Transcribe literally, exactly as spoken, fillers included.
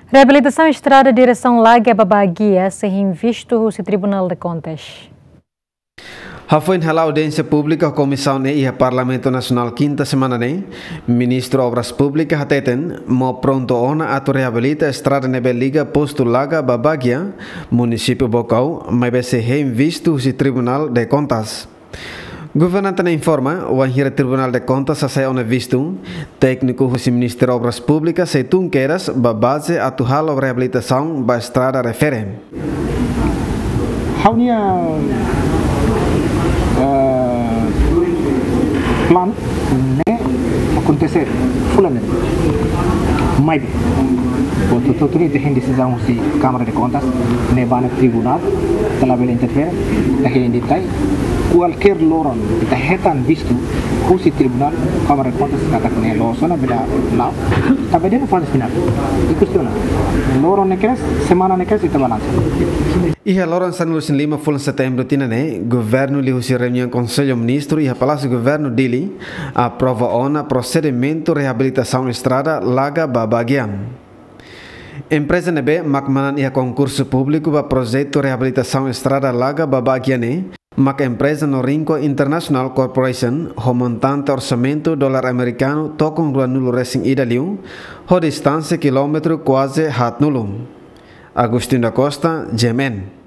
Reabilitasaun estrada diresaun Laga ba Baguia sei hein vistu husi Tribunál de Kontas. Hafoin hala'o audiénsia públika Komisaun E iha Parlamentu Nasionál kinta semana ne'e, Ministru Obras Públikas hateten mós prontu ona atu reabilita estrada ne'ebé liga postu Laga ba Baguia, munisípiu Baucau, maibé sei hein vistu husi Tribunál de Kontas. Governante ne'e informa, wainhira Tribunál de Kontas hasai ona vistu, tékniku husi Ministériu Obras Públikas sei tun kedas ba baze atu halo reabilitasaun ba estrada refere. Ha'u-nia, eh, plan ne'e akontese fulan ne'e. Maibé, hotu-hotu ne'e ita hein desizaun husi Kámara de Kontas, ne'e ba iha tribunál, ita labele interfere, ita hein de'it. Kualkér loron ita hetan vistu husi tribunál, Kámara de Kontas katak ne'e loos ona, bele la'o, ita bele dehan faze finál. I kestiona. Loron ne'e kedas, semana ne'e kedas, ita balansa. Iha loron sanulu-resin-lima fulan Setembru tinan ne'e, Governu liuhusi reuniaun Konsellu Ministru iha Palásiu Governu Dili aprova ona prosedimentu reabilitasaun estrada Laga ba Baguia. Empreza ne'ebé mak manán iha konkursu públiku ba projetu reabilitasaun estrada Laga ba Baguia ne'e mak empreza Norinco International Corporation, ho montante orsamentu dolar amerikanu tokon ruanulu-resin-ida liu, ho distánsia kilómetru kuaze haatnulu. Agostinho da Costa, G M N.